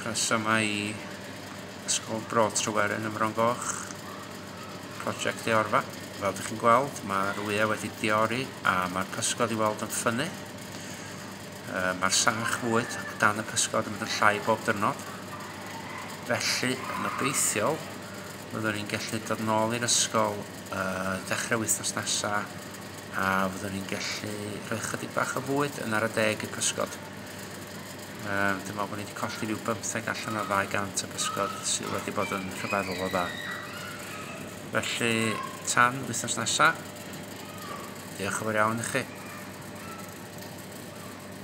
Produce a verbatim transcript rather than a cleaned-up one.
Croeso yma i Ysgol Bro Tryweryn ym Mron Goch, prosiect Deorfa. Fel ydych chi'n gweld, mae'r wyau wedi deori a mae'r pysgod i weld yn ffynnu. Mae'r sach fwyd o dan y pysgod yn mynd yn llai bob diwrnod. Felly, yn obeithiol, fyddwn ni'n gallu dod nôl i'r ysgol uh, dechrau wythnos nesaf a fyddwn ni'n gallu rhoi chydig bach o fwyd yn ar y deg i'r pysgod. Um, dwi'n meddwl bod ni wedi colli rhyw bymtheg allan o ddau gant o bysgod sydd wedi bod yn rhyfeddol o dda. Felly, tan wythnos nesaf, diolch yn fawr iawn i chi.